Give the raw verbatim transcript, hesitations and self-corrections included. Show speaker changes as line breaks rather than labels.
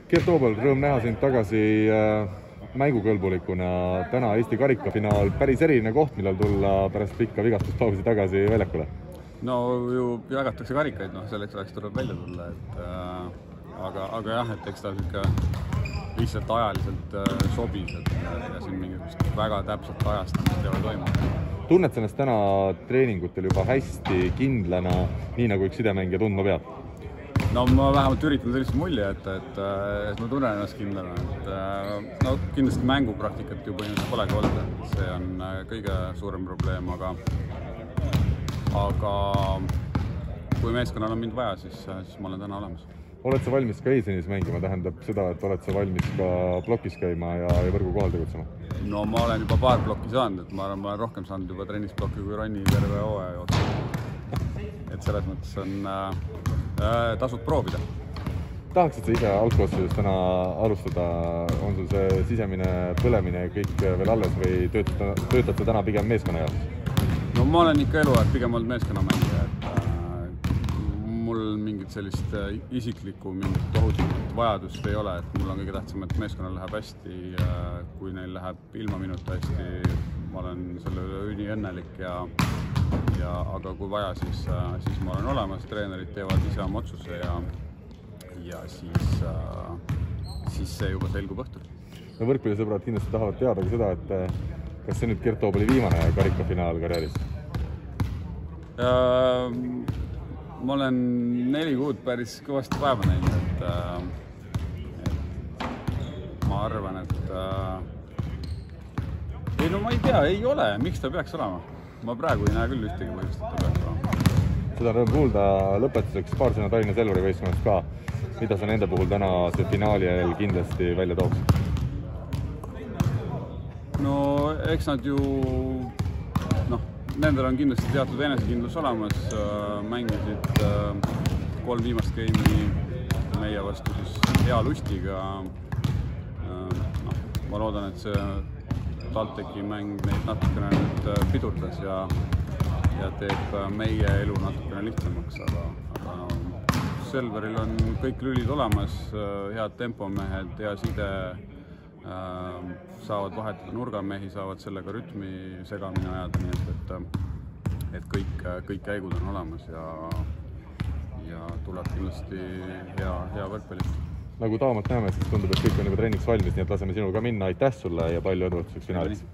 Gert Toobal, rõõm näha sind tagasi mängukõlbulikuna. Täna Eesti karikafinaal, päris eriline koht, millal tulla pärast pikka vigastuspausi tagasi väljakule.
No ju jagatakse karikaid, noh selleks ajaks tuleb välja tulla, et äh, aga, aga jah, et eks ta ikka lihtsalt ajaliselt äh, sobis, et ja siin mingisugust väga täpselt ajastamist ei ole toimunud.
Tunned sa ennast täna treeningutel juba hästi kindlana, nii nagu üks sidemängija tundma peab?
No ma vähemalt üritan sellist mulje, et, et, et ma tunnen ennast kindlana, et no kindlasti mängupraktikat ju põhimõtteliselt polegi olnud, see on kõige suurem probleem, aga aga kui meeskonnal on mind vaja, siis, siis ma olen täna olemas.
Oled sa valmis ka eesliinis mängima, tähendab seda, et oled sa valmis ka plokis käima ja, ja võrgu kohal tegutsema?
No ma olen juba paar plokki saanud, et ma olen, ma olen rohkem saanud juba trennisplokki kui Ronni terve hooaja jooksul. Et selles mõttes on äh, tasub proovida.
Tahaksid sa ise algkoosseisus täna alustada, on sul see sisemine põlemine kõik veel alles või töötad, töötad sa täna pigem meeskonna jaoks?
No ma olen ikka eluaeg pigem olnud meeskonnamängija, et äh, mul mingit sellist äh, isiklikku mingit tohutut vajadust ei ole, et mul on kõige tähtsam, et meeskonnal läheb hästi, äh, kui neil läheb ilma minuta hästi, ma olen selle üle üni õnnelik ja Ja, aga kui vaja, siis, siis ma olen olemas, treenerid teevad ise oma otsuse ja, ja siis, siis see juba selgub õhtul.
No võrkpallisõbrad kindlasti tahavad teada ka seda, et kas see nüüd Gert Toobali viimane karikafinaal karjääris?
Ma olen neli kuud päris kõvasti päeva näinud, et, et ma arvan, et ei, no ma ei tea, ei ole, miks ta peaks olema? Ma praegu ei näe küll ühtegi põhjust, et ta peaks olema.
Seda rõõm kuulda lõpetuseks paar sõna Tallinna Selveri võistkonnast ka. Mida sa nende puhul täna see finaali ajal kindlasti välja tooks?
No eks nad ju, noh, nendel on kindlasti teatud enesekindlus olemas, mängisid kolm viimast geimi meie vastu siis hea lustiga. No, ma loodan, et see TalTechi mäng neid natukene nüüd pidurdas ja, ja teeb meie elu natukene lihtsamaks, aga, aga no, Selveril on kõik lülid olemas, head tempomehed, hea side, äh, saavad vahetada nurgamehi, saavad sellega rütmi segamini ajada, nii et, et, et kõik, kõik käigud on olemas ja, ja tuleb kindlasti hea, hea võrkpallist.
Nagu Taamat näeme, siis tundub, et kõik on juba trenniks valmis, nii et laseme sinul ka minna. Aitäh sulle ja palju edu finaaliks!